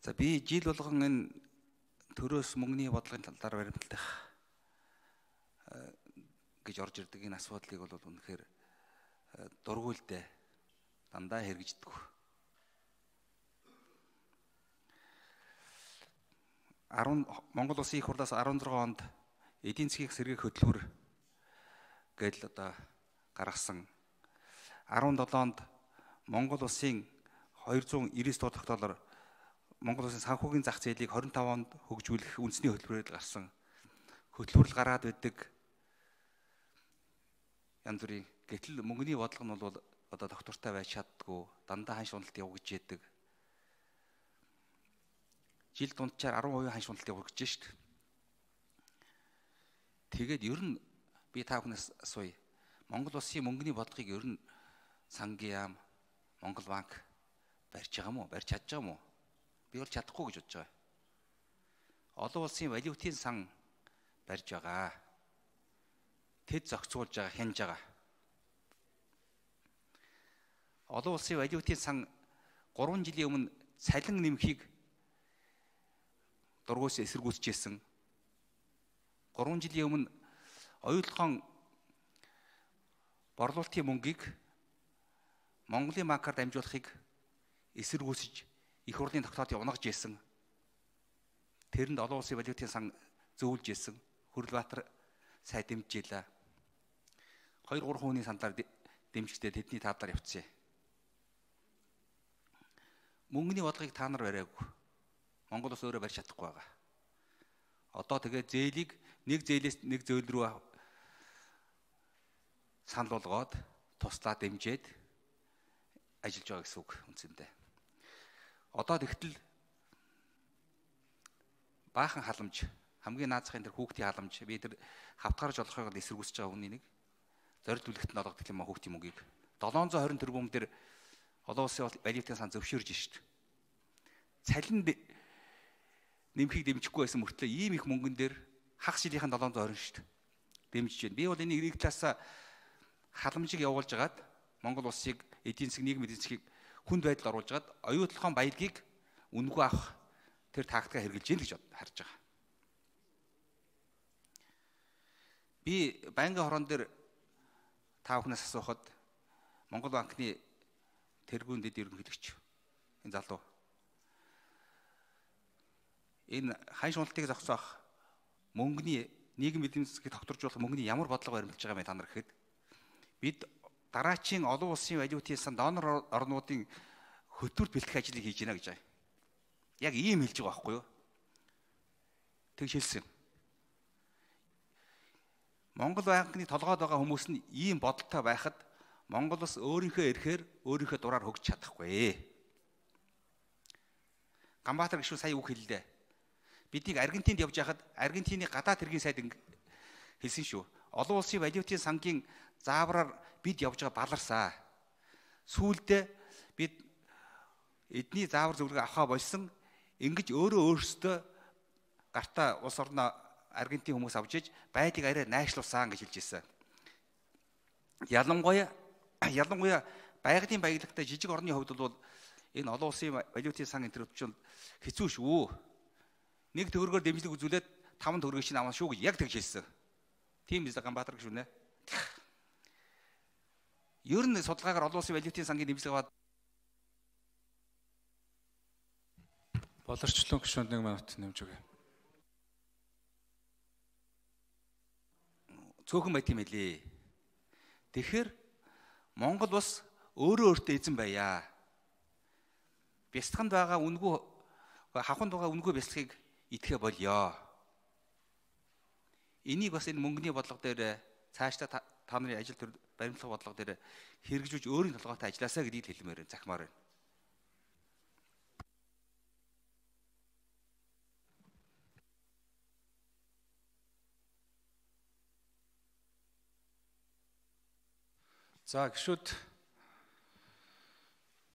За би жил болгон энэ төрөөс мөнгөний бодлогын талаар баримтлах гэж орж ирдэг энэ асуудлыг бол үнэхээр дургуйлтай дандаа хэрэгждэг. Монгол Улсын их хурлаас 16 онд эдийн засгийн сэргээх хөтөлбөр гэдэл одоо гаргасан. 17 онд Монгол Улсын 299 дугаар тогтоолоор Монгол Улсын санхүүгийн зах зээлийг 25 онд хөгжүүлэх үндэсний хөтөлбөрөөр гарсан. Хөтөлбөрл гараад байдаг янз бүрийн гэтэл мөнгөний бодлого нь бол одоо доктортой байж чаддгүй, дандаа ханш уналт явагдаж яддаг. Жил дунджаар 10% ханш уналт явагдаж шít. Тэгээд ер нь би та бүхнээс асууя. Монгол Улсын мөнгөний бодлогыг ер нь сангийн яам, Монгол банк барьж байгаа мó, барьж чадж байгаа мó? Би бол чадахгүй гэж бодож байгаа. Олон улсын валютын сан барьж байгаа. Тэд зохицуулж байгаа, хянаж байгаа. Олон улсын валютын сан 3 жилийн өмнө цалин нэмэхийг дургуйс эсэргүүцэжсэн. 3 жилийн өмнө оюутлогын борлуулалтын мөнгийг Монголын банкаар дамжуулахыг эсэргүүцэж их хурлын тогтоолыг унагж ийсэн. Тэрэнд олон улсын валютын сан зөөвлж ийсэн. Хүрлбаатар сая дэмжижээ. 2-3 хүний сандаар дэмжигдээ тэдний тавдар явцсан. Мөнгөний бодлогыг та нар бариагүй. Монгол улс өөрөө барьж чадахгүй байгаа. Одоо тэгээд зээлийг нэг зээлээс нэг зөөл рүү санал болгоод туслаа дэмжиж ажиллаж байгаа гэсэн үг үндсэндээ. Одоо тэгтэл баахан халамж, хамгийн наазахын тэр хүүхдийн халамж, би тэр хавтгарж болохыг эсэргүүцэж байгаа хүний нэг зорилт бүлэгт нь олгодог юм а хүүхдийн мөнгийг 720 тэрбум дээр олон улсын валютын сан зөвшөөрж шít. Цалин нэмэхийг дэмжихгүй байсан мөртлөө ийм их мөнгөн дээр хагас жилийнхэн 720 шít. Дэмжиж байна. Би бол энийг нэг талаасаа халамжийг явуулж агаад Монгол улсыг эдийн засаг, нийгмийн эдийн засгийг хүнд байдалд оруулж агаад оюутлогын баялагийг үнэгүй авах тэр тактикаа хэрэгжилж гин гэж харж байгаа. Би банкны хорон дээр та бүхнээс асуухад Монгол банкны тэргүүн дэд ерөнхийлөгч энэ залуу энэ ханш уналтыг зогсоох мөнгөний нийгэм эдийн засгийг тогтворжуулах мөнгөний ямар бодлого баримталж байгаа юм та нар гэхэд бид дараачийн олон улсын валютын сан донор орнуудын хөтөлбөрт бэлтгэх ажлыг хийж байна гэж байна. Яг ийм хэлж байгаа байхгүй юу? Тэг хэлсэн. Монгол банкны толгойд байгаа хүмүүс нь ийм бодолтой байхад Монгол улс өөрийнхөө эрхээр өөрийнхөө дураар хөгжиж чадахгүй. Ганбаатар гишүүн сая үг хэллээ. Биднийг Аргентинд явж байхад Аргентины гадаад хэргийн сайд хэлсэн шүү. Олон улсын валютын сангийн заавраар бид явж байгаа баларсаа. Сүүлдээ бид эдний заавар зөвлөгөө авахаа болсон. Ингэж өөрөөсөө гартаа улс орноо Аргентин хүмүүс авч иж байдлыг арай найшлуулсан гэж хэлж ирсэн. Ялангуяа байгалийн баялагтай жижиг орны хувьд бол энэ олон улсын валютын сан интервенцийн хэцүү шүү. Нэг төгрөгөөр дэмжлэг үзүүлээд 5 төгрөгийг чинь авах шүү гэж яг тэгж хэлсэн. Тийм биз Ганбаатар гэж үнэ. Ер нь судалгаагаар олон улсын валютын сангийн дэмжлэг аваад болорчлон гишүүнд 1 минут нэмж өгье. Цөөхөн байт юм элэ. Тэгэхээр Монгол бас өөрөө өөртөө эзэн байя. Бясалганд байгаа үнгүй хавханд байгаа үнгүй бясалгыг идэхэ болёо. Энийг бас энэ мөнгөний бодлого дээр цаашдаа та нарын ажил төр баримтлах бодлого дээр хэрэгжүүлж өөрийн толгойтой ажилласаа гэдгийг хэлмээр байна, захимаар байна. За гишүүд